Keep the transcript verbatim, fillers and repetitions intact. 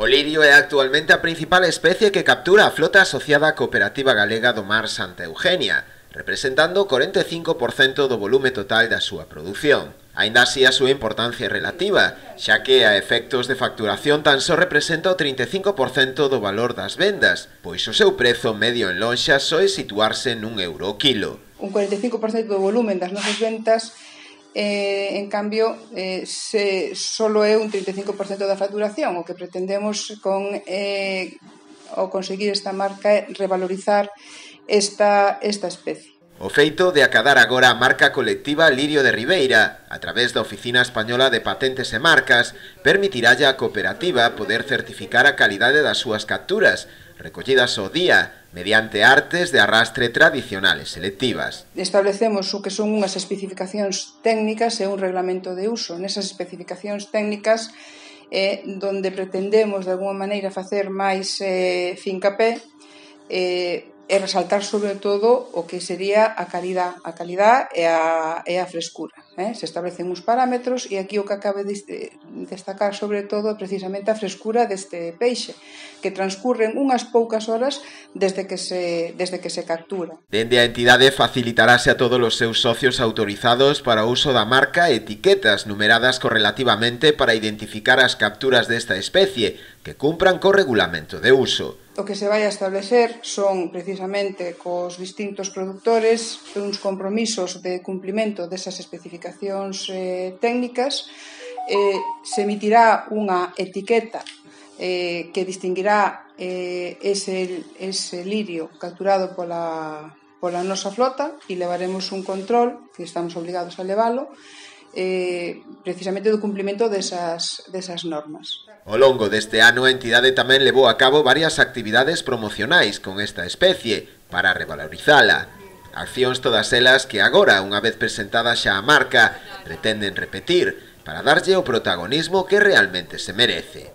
O lirio é actualmente a principal especie que captura a flota asociada á Cooperativa Galega do Mar Santa Eugenia, representando o corenta e cinco por cento do volume total da súa produción. Aínda así a súa importancia é relativa, xa que a efectos de facturación tan só representa o trinta e cinco por cento do valor das vendas, pois o seu prezo medio en lonxa soe situarse nun euro o quilo. Un cuarenta e cinco por cento do volumen das nosas ventas, eh, en cambio, eh, se, solo é un trinta e cinco por cento da facturación. O que pretendemos con eh, ao conseguir esta marca é revalorizar esta, esta especie. O feito de acadar agora a marca colectiva Lirio de Ribeira, a través da Oficina Española de Patentes e Marcas, permitiralle á cooperativa poder certificar a calidade das súas capturas, recollidas ao día, mediante artes de arrastre tradicionales selectivas. Establecemos o que son unhas especificacións técnicas e un reglamento de uso. Nesas especificacións técnicas é donde pretendemos de alguma maneira facer máis eh, fincapé eh, e resaltar sobre todo o que sería a calidad, a calidad e a, e a frescura. Eh? Se establecen uns parámetros e aquí o que acabe de destacar sobre todo é precisamente a frescura deste peixe, que transcurren unhas poucas horas desde que se, desde que se captura. Dende a entidade facilitarase a todos os seus socios autorizados para o uso da marca etiquetas numeradas correlativamente para identificar as capturas desta especie que cumpran co regulamento de uso. O que se vai a establecer son precisamente cos distintos productores uns compromisos de cumplimento desas especificacións eh, técnicas. Eh, se emitirá unha etiqueta eh, que distinguirá eh, ese, ese lirio capturado pola, pola nosa flota e levaremos un control, que estamos obligados a levalo, eh, precisamente do cumplimento desas, desas normas. Ao longo deste ano a entidade tamén levou a cabo varias actividades promocionais con esta especie para revalorizala. Accións todas elas que agora, unha vez presentada xa a marca, pretenden repetir para darlle o protagonismo que realmente se merece.